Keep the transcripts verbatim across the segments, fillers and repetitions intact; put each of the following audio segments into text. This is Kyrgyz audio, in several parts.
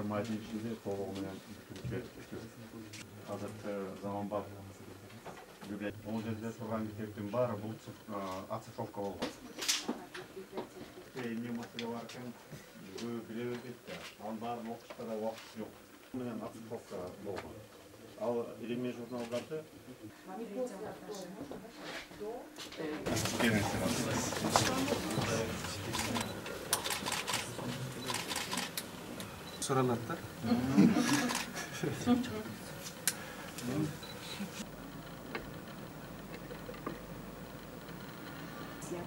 жарым айдын ичинде толугу менен бүтүп кетти. Азыркы заманбап бул жерде турган китептин баары бул оцифровка болгон. Эмне маселе бар экен биле бербейт да. Анын баарын окушка да убакыт жок. Менен оцифровка болгон. Ал илимий журналдарды суралат да.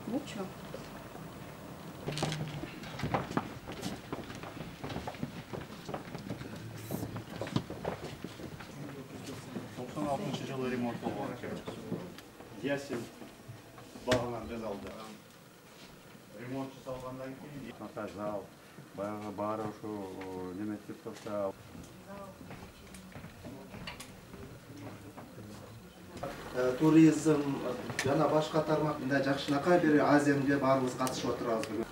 Mucho. токсон алтынчы жылы ремонт болгон экен. Ясин багынан без алды. Ремонт жасалгандан кийин ката зал баягы баары ушу неметип турса туризм жана башка тармак мындай жакшынакай бери Азияга баарыбыз катышып отурабыз бүгүн.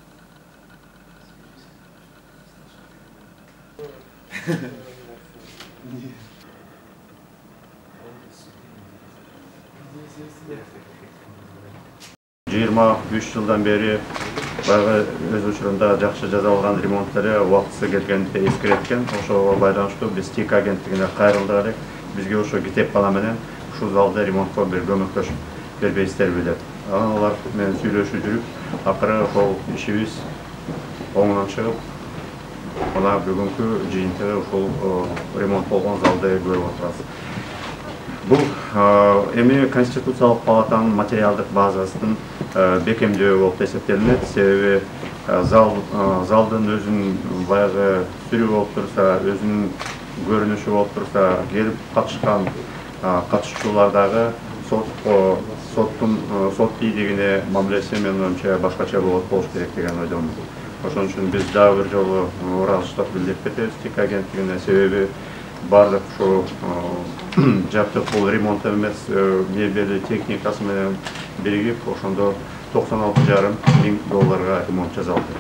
жыйырма үч жылдан бери баягы өз учурунда жакшы жасалган ремонттары убактысы келгенде эскереткен. Ошого байланыштуу биз ТИК агенттигине кайрылдык элек. Бизге ошо китепкана менен ушул залда ремонтко бир көмөктөшүп бербейсиздерби деп. Анан алар менен сүйлөшүп жүрүп, акыры ошол ишибиз оңунан чыгып, мына бүгүнкү жыйынтыгы ушул ремонт болгон залды көрүп отурабыз. Бул эми Конституциялык палатанын материалдык базасынын бекемдөө болуп эсептелинет. Себеби зал залдын өзүнүн баягы сүрү болуп турса, өзүнүн көрүнүшү болуп турса, келип катышкан катышуучулардагы соттун сот бийлигине мамилеси менин оюмча башкача болот болуш керек деген ойдомун. Ошон үчүн биз дагы бир жолу ыраазычылык билдирип кетебиз ТИК агенттигине. Себеби бардык ушу жаптык бул ремонт эмес, мебели техникасы менен биригип, ошондо токсон алты жарым миң долларга ремонт жасалды.